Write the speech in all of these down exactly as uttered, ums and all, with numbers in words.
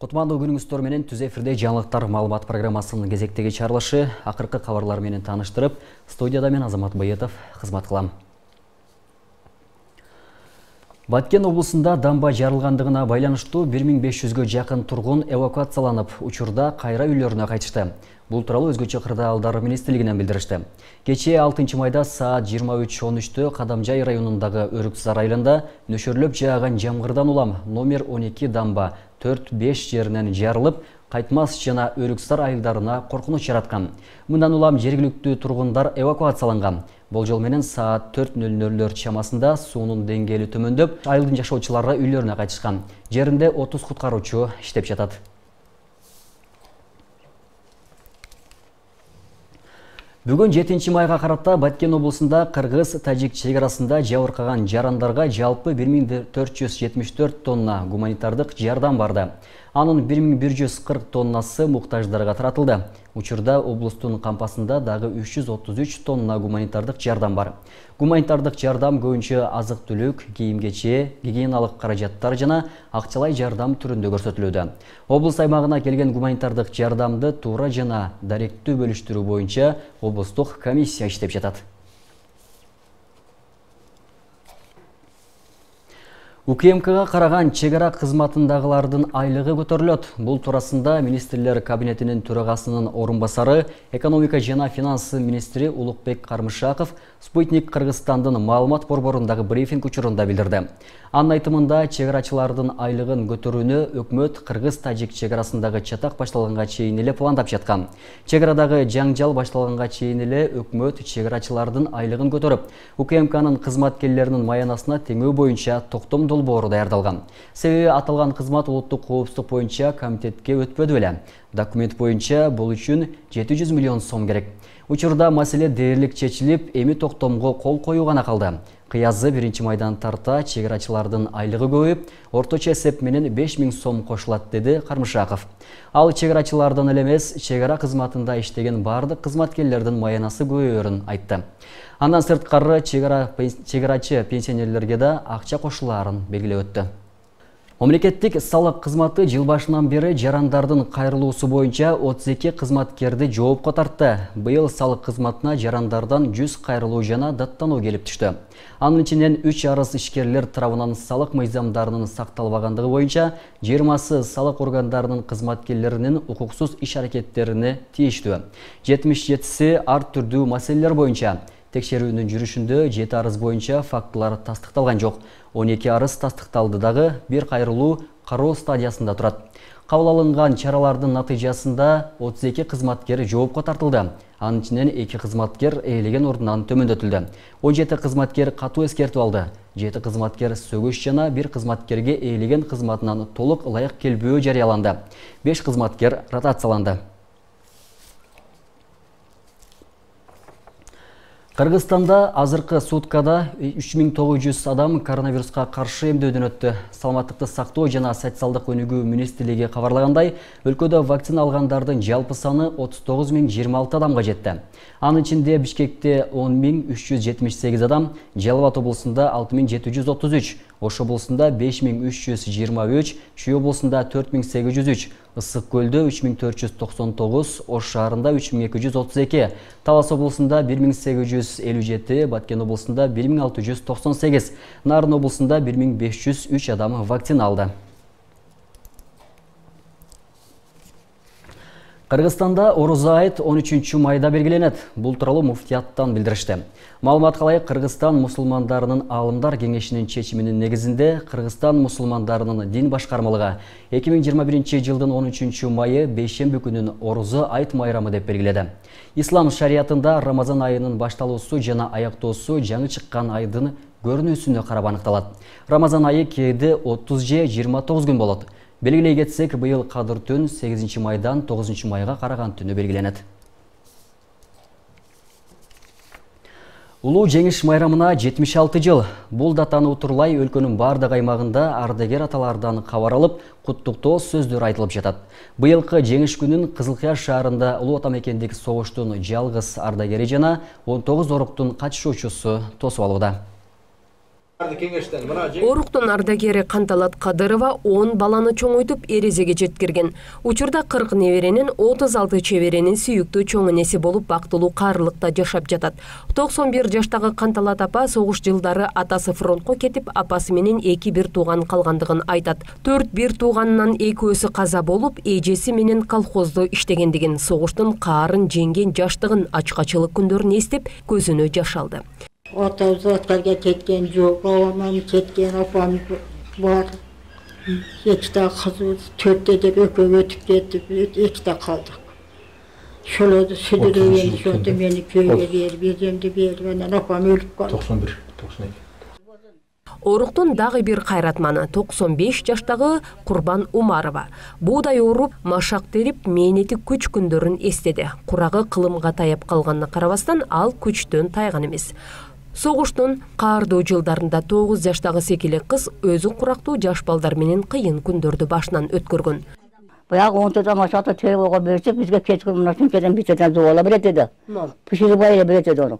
Кутмандуу күнүңүздөр менен түз эфирде жаңылыктар маалымат программасынын кезектеги чыгарылышы акыркы кабарлар менен тааныштырып, студияда мен Азамат Байетов кызмат кылам. Баткен облусунда дамба жарылгандыгына байланыштуу бир миң беш жүзгө жакын тургун эвакуацияланып, учурда кайра үйлөрүнө кайтышты. Бул тууралуу өзгөчө кырдаалдар министрлигинен билдиришти. Кечээ алтынчы майда саат жыйырма үч он үчтө Кадамжай районундагы Өрүксар айылында нөшөрлөп жааган жамгырдан улам номер он эки дамба төрт беш жеринен жарылып, Кайтмас жана Өрүксар айылдарына коркунуч жараткан. Мындан улам жергиликтүү тургундар эвакуацияланган. Болжол менен саат төрт нөл нөлдөр чамасында суунун деңгээли төмөндөп, айылдын жашоочулары үйлөрүнө кайтышкан. Жеринде отуз куткаруучу иштеп жатат. Бүгүн жетинчи майга карата Баткен облусунда кыргыз-тажик чек арасында жабыркаган жарандарга жалпы бир миң төрт жүз жетимиш төрт тонна гуманитардык жардам барды. Анын бир миң бир жүз кырк тоннасы муктаждарга таратылды. Учурда облустун кампасында дагы үч жүз отуз үч тонна гуманитардык жардам бар. Гуманитардык жардам көбүнчө азык-түлүк, кийим-кече, гигиеналык каражаттар жана акчалай жардам түрүндө көрсөтүлүүдө. Облус аймагына келген гуманитардык жардамды туура жана даректүү бөлүштүрүү боюнча облустук комиссия иштеп жатат. УКМКга караган чек ара кызматындагылардын айлыгы көтөрүлөт. Бул туурасында министрлер кабинетинин төрагасынын орун басары, экономика жана финансы министри Улукбек Кармышаков Спутник Кыргызстандын маалымат борборундагы брифинг учурунда билдирди. Анын айтымында, чек арачылардын айлыгын көтөрүүнү өкмөт кыргыз-тажик чек арасындагы чатак башталганга чейин эле пландап жаткан. Чек арадагы жаңжал башталганга чейин эле өкмөт чек арачылардын айлыгын көтөрүп, УКМКнын кызматкерлеринин маянасына теңөө боюнча токтом долбоору даярдалган. Себеби аталган кызмат улуттук коопсуздук боюнча комитетке өтпөдү беле. Документ боюнча бул үчүн жети жүз миллион сом керек. Учурда маселе дээрлик чечилип, эми токтомго кол коюу гана калды. Кыязы биринчи майдан тарта чек арачылардын айлыгы көбөйүп, орточо эсеп менен беш миң сом кошулат, деди Кармышаков. Ал чек арачылардан эле эмес, чек ара кызматында иштеген бардык кызматкерлердин маянасы көбөйөрүн айтты. Андан сырткары чек арачы пенсионерлерге да акча кошулаарын белгилеп өттү. Мамлекеттик салык кызматы жыл башынан бери жарандардын кайрылуусу боюнча отуз эки кызматкерди жоопко тартты. Быйыл салык кызматына жарандардан жүз кайрылуу жана даттануу келип түштү. Анын ичинен үч арыз ишкерлер тарабынан салык мыйзамдарынын сакталбагандыгы боюнча жыйырмасы салык органдарынын кызматкерлеринин укуксуз иш-аракеттерине тийиштүү. жетимиш жетиси ар түрдүү маселелер боюнча. Текшерүүнүн жүрүшүндө жети арыз боюнча фактылар тастыкталган жок. он эки арыз тастыкталды, дагы бир кайрылуу кароо стадиясында турат. Кабыл алынган чаралардын натыйжасында отуз эки кызматкер жоопко тартылды. Анын ичинен эки кызматкер ээлеген ордунан төмөндөтүлдү. он жети кызматкер катуу эскертип алды. жети кызматкер сөгүш жана бир кызматкерге ээлеген кызматынан толук ылайык келбөө жарыяланды. беш кызматкер ротацияланды. Кыргызстанда азыркы суткада үч миң тогуз жүз адам коронавируска каршы эмдөөдөн өттү. Саламаттыкты сактоо жана социалдык өнүгүү министрлиги кабарлагандай, өлкөдө вакцина алгандардын жалпы саны отуз тогуз миң жыйырма алты адамга жетти. Анын ичинде Бишкекте он миң үч жүз жетимиш сегиз адам, Жалал Абад облусунда алты миң жети жүз отуз үч, Ош облусунда беш миң үч жүз жыйырма үч, Чүй облусунда төрт миң сегиз жүз үч, Ысык көлдө үч миң төрт жүз токсон тогуз, Ош шаарында үч миң эки жүз отуз эки, Талас облусунда бир миң сегиз жүз элүү жети, Баткен облусунда бир миң алты жүз токсон сегиз, Нарын облусунда бир миң беш жүз үч адам вакцина алды. Кыргызстанда Орозо айт он үчүнчү майда белгиленет. Бул тууралуу муфтияттан билдиришти. Маалыматка ылайык, Кыргызстан мусулмандарынын аалымдар кеңешинин чечиминин негизинде Кыргызстан мусулмандарынын дин башкармалыгы эки миң жыйырма биринчи жылдын он үчүнчү майы бейшемби күнүн Орозо айт майрамы деп белгиледи. Ислам шариятында Рамазан айынын башталуусу жана аяктоосу жаңы чыккан айдын көрүнүүсүнө карап аныкталат. Рамазан айы кээде отуз же жыйырма тогуз күн болот. Белгилей кетсек, быйыл кадыр түн сегизинчи майдан тогузунчу майга караган түнү белгиленет. Улуу жеңиш майрамына жетимиш алты жыл. Бул датаны утурлай өлкөнүн бардык аймагында ардагер аталардан кабар алып, куттуктоо сөздөр айтылып жатат. Быйылкы жеңиш күнүн Кызылкыя шаарында Улуу Ата мекендик согуштун жалгыз ардагери жана он тогуз оруктун катышуучусу тосуп алууда. Оруктун ардагери Канталат Кадырова он баланы чоңойтуп эрезеге жеткирген. Учурда кырк неберенин отуз алты чеберенин сүйүктүү чоң энеси болуп бактылуу каарылыкта жашап жатат. токсон бир жаштагы Канталат апа согуш жылдары атасы фронтко кетип, апасы менен эки бир тууган калгандыгын айтат. төрт бир тууганынан экөөсү каза болуп, эжеси менен колхоздо иштегендигин, согуштун каарын жеңген жаштыгын, ачкачылык күндөрүн эстеп, көзүнө жаш алды. Отауыз отқарға кеткен жоқ, ауаман кеткен апам бар. Екіта қызымыз төртте деп өкөп өтіп кетіп, екіта қалдық. Шолоды сүдіреген, сонда мені күйге беріп, еземді беріп, анан апам өліп қалды. токсон бир, токсон эки. Оруктун дагы бир кайратманы токсон беш жаштагы Курбан Умарова. Буудай уруп, машак терип, мээнети күч күндөрүн эстеди. Курагы кылымга таяп калганына карабастан, ал күчтөн тайган эмес. Согуштун каардуу жылдарында тогуз жаштагы секилек кыз өзү курактуу жаш балдар менен кыйын күндөрдү башынан өткөргөн. Баягы он төрт машакты терип ойгоп берсек, бизге кечки мына шунчадан битеден зубала берет эди. Пиширип айла берет эди аны.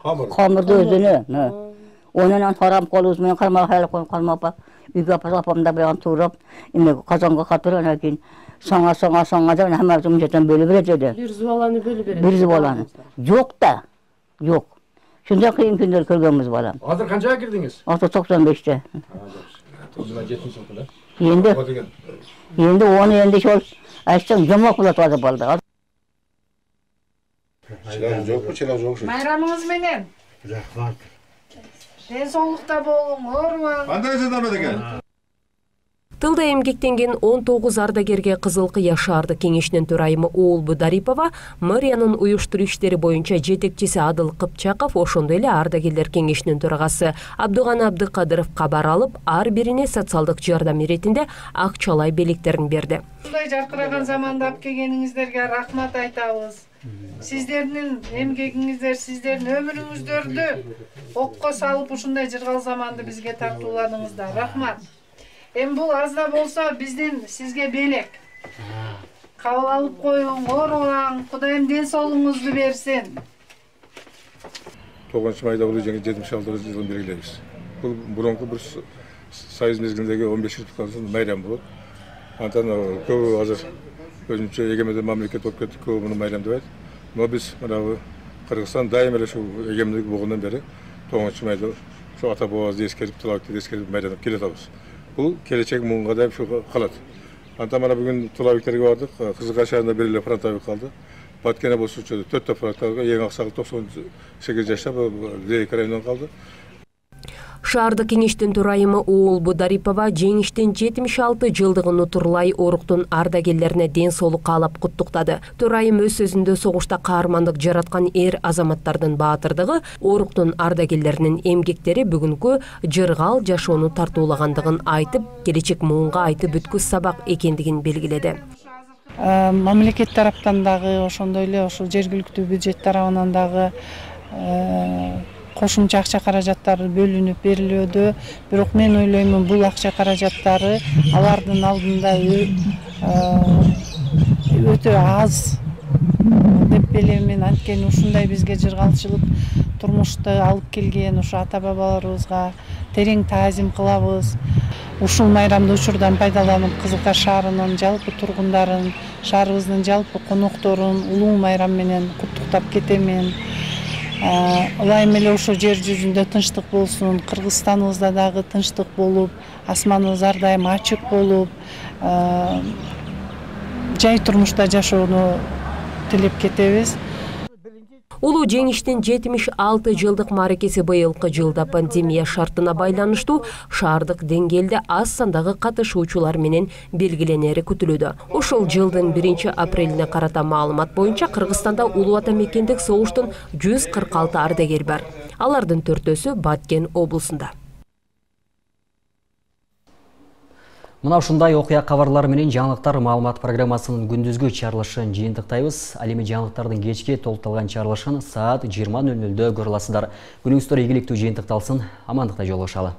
Камырды өзүнө. Онан тарам колубуз менен кармак хайлап коюп калмапа. Үйгө апамда баягы туурап, эме казанга катыр, анан кийин саңа саңа саңа деп хаммасы мынчадан бөлүп берет эди. Бир зубаланы бөлүп берет. Бир зубаланы. Жок да. Жок. Шундай кыйын күндөр көргөнбүз балам. Азыр канчага кирдиңиз? Азыр токсон беште. Жыйырма жетинчи жылы эле. Енді енді оны енді шол айтсаң жомок болот азыр балдар. Чылам жокпу, чылам жок. Майрамыңыз менен. Рахмат. Ден соолукта болуң, оорубаң. Кандай жадан экен? Тылда эмгектенген он тогуз ардагерге Кызыл Кыя шаардык кеңешинин төрайымы Оолбу Дарипова, мэриянын уюштуруу иштери боюнча жетекчиси Адыл Кыпчаков, ошондой эле ардагерлер кеңешинин төрагасы Абдыганы Абдыкадыров кабар алып, ар бирине социалдык жардам иретинде акчалай белектерин берди. Ушундай жаркыраган заманда алып келгениңиздерге рахмат айтабыз. Сиздердин эмгегиңиздер, сиздердин өмүрүңүздөрдү окко салып ушундай жыргал заманды бизге тартууладыңыздар. Рахмат. Эми бул аз да болсо биздин сизге белек. Кабыл алып коюң, оорубаң, Кудайым ден соолугуңузду берсин. тогузунчу майда бул жетимиш алты жылын белгилейбиз. Бул мурунку бир союз мезгилиндеги он беш республиканын майрамы болот. Антан көбү азыр өзүнчө эгемендик мамлекет болуп кетти, көбү муну майрам деп айтат. Но биз мына Кыргызстан дайыма эле ушул эгемендик болгондон бери тогузунчу майда ушу ата бабабызды эскерип, тылабекти эскерип майрамдап келатабыз. Бул келечек муңга да ушу калат. Антан мына бүгүн тылабектерге бардык. Кызылкая шаарында бир эле фронтовик калды. Баткене болсучу төрттө фронтовик, эң аксагы токсон сегиз жашта Лейк районунан калды. Шаардык кеңештин төрайымы Оолбу Дарипова жеңиштин жетимиш алты жылдыгын утурлай оруктун ардагерлерине ден соолук каалап куттуктады. Төрайым өз сөзүндө согушта каармандык жараткан эр азаматтардын баатырдыгы, оруктун ардагерлеринин эмгектери бүгүнкү жыргал жашоону тартуулагандыгын айтып, келечек муунга айтып бүткүс сабак экендигин белгиледи. Мамлекет тараптан дагы, ошондой эле ошол жергиликтүү бюджет тарабынан дагы кошумча акча каражаттары бөлүнүп берилүүдө, бирок мен ойлоймун бул акча каражаттары алардын алдында өтө аз деп билемин. Анткени ушундай бизге жыргалчылык турмушту алып келген ушу ата бабаларыбызга терең таазим кылабыз. Ушул майрамды учурдан пайдаланып Кызылкая шаарынын жалпы тургундарын, шаарыбыздын жалпы конокторун улуу майрам менен куттуктап кетемин. Ылайым эле ошо жер жүзүндө тынчтык болсун, Кыргызстаныбызда дагы тынчтык болуп, асманыбыз ар дайым ачык болуп, жай турмушта жашоону тилеп кетебиз. Улуу жеңиштин жетимиш алты жылдык мааракеси быйылкы жылда пандемия шартына байланыштуу шаардык деңгээлде аз сандагы катышуучулар менен белгиленери күтүлүүдө. Ошол жылдын биринчи апрелине карата маалымат боюнча Кыргызстанда улуу ата мекендик согуштун жүз кырк алты ардагер бар. Алардын төртөөсү Баткен облусунда. Мына ушундай окуя кабарлары менен жаңылыктар маалымат программасынын күндүзгү чыгарылышын жыйынтыктайбыз. Ал эми жаңылыктардын кечки толукталган чыгарылышын саат жыйырма нөл нөлдө көрө аласыздар. Күнүңүздөр ийгиликтүү жыйынтыкталсын, амандыкта жолугушалы.